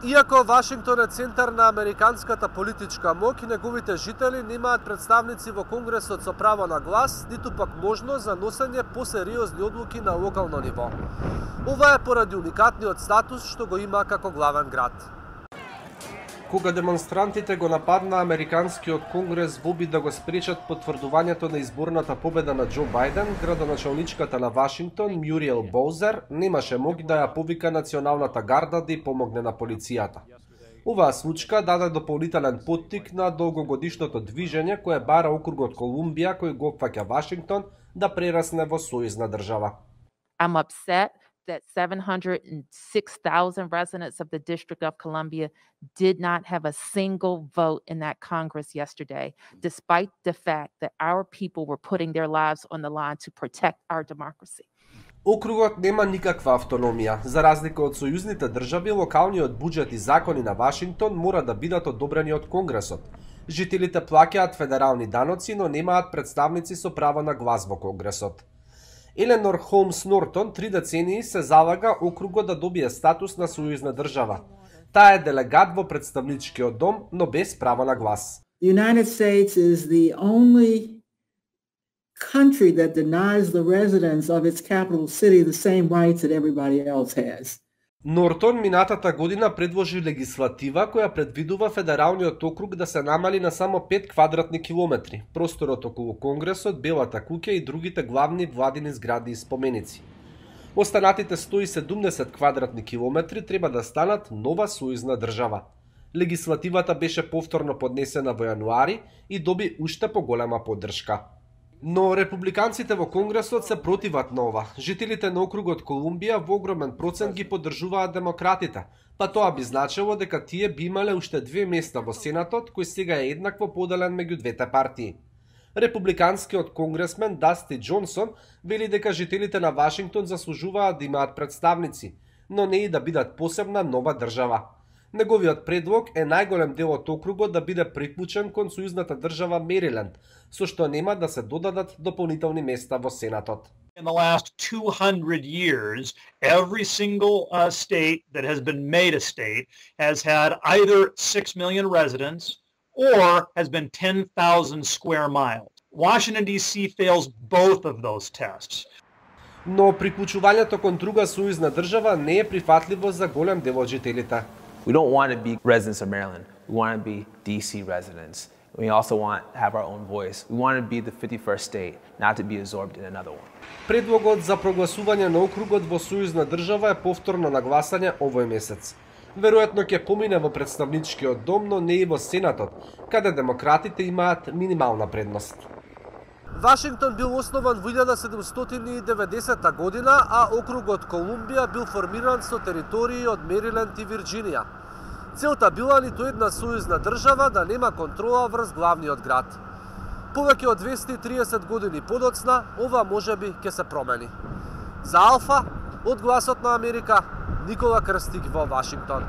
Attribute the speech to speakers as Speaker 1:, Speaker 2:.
Speaker 1: Иако Вашингтон е центар на американската политичка моќ, неговите жители немаат представници во Конгресот со право на глас, ниту пак можност за носење посериозни одлуки на локално ниво. Ова е поради уникатниот статус што го има како главен град. Кога демонстрантите го нападна Американскиот конгрес во обид да го спречат потврдувањето на изборната победа на Џо Бајден, градоначалничката на Вашингтон, Мюриел Боузер, немаше моќ да ја повика Националната гарда да ја помогне на полицијата. Оваа случка даде дополнителен поттик на долгогодишното движење кое бара округот Колумбија кој го опфаќа Вашингтон да прерасне во сојузна држава.
Speaker 2: I'm upset that 706,000 residents of the District of Columbia did not have a single vote in that Congress yesterday, despite the fact that our people were putting their lives on the line to protect our democracy.
Speaker 1: Округот нема никаква автономија. За разлика од сојузните држави, локалниот буџет и закони на Вашингтон мора да бидат одобрени од Конгресот. Жителите плаќаат федерални даноци, но немаат представници со право на глас во Конгресот. Еленор Холмс Нортон 3 децении се залага округот да добие статус на сојузна држава. Таа е делегат во представничкиот дом, но без право на глас.
Speaker 3: The United States is the only country that denies the residents of its capital city the same rights that everybody else has.
Speaker 1: Нортон минатата година предложи легислатива која предвидува федералниот округ да се намали на само 5 квадратни километри, просторот околу Конгресот, Белата куќа и другите главни владини згради и споменици. Останатите 170 квадратни километри треба да станат нова сојузна држава. Легислативата беше повторно поднесена во јануари и доби уште поголема поддршка. Но републиканците во Конгресот се противат на ова. Жителите на округот Колумбија во огромен процент ги поддржуваат демократите, па тоа би значило дека тие би имале уште 2 места во Сенатот, кој сега е еднакво поделен меѓу двете партии. Републиканскиот конгресмен Дасти Џонсон вели дека жителите на Вашингтон заслужуваат да имаат представници, но не и да бидат посебна нова држава. Неговиот предлог е најголем дел од округот да биде приклучен кон сојузната држава Мериленд, со што нема да се додадат дополнителни места во Сенатот.
Speaker 4: In the last 200 years, every single state that has been made a state has had either 6 million residents or has been 10,000 square miles. Washington, D.C. fails both of those tests.
Speaker 1: Но приклучувањето кон друга сојузна држава не е прифатливо за голем дел од жителите.
Speaker 5: We don't want to be residents of Maryland. We want to be DC residents. We also want to have our own voice. We want to be the 51st state, not to be absorbed in another one.
Speaker 1: Предлогот за прогласување на округот во сојузна држава е повторно на гласање овој месец. Веројатно ќе помине во представничкиот дом, но не и во Сенатот, каде демократите имаат минимална предност. Вашингтон бил основан во 1790 година, а округот Колумбија бил формиран со територии од Мериленд и Вирџинија. Целта била ниту една сојузна држава да нема контрола врз главниот град. Повеќе од 230 години подоцна, ова можеби ќе се промени. За Алфа, од Гласот на Америка, Никола Крстик во Вашингтон.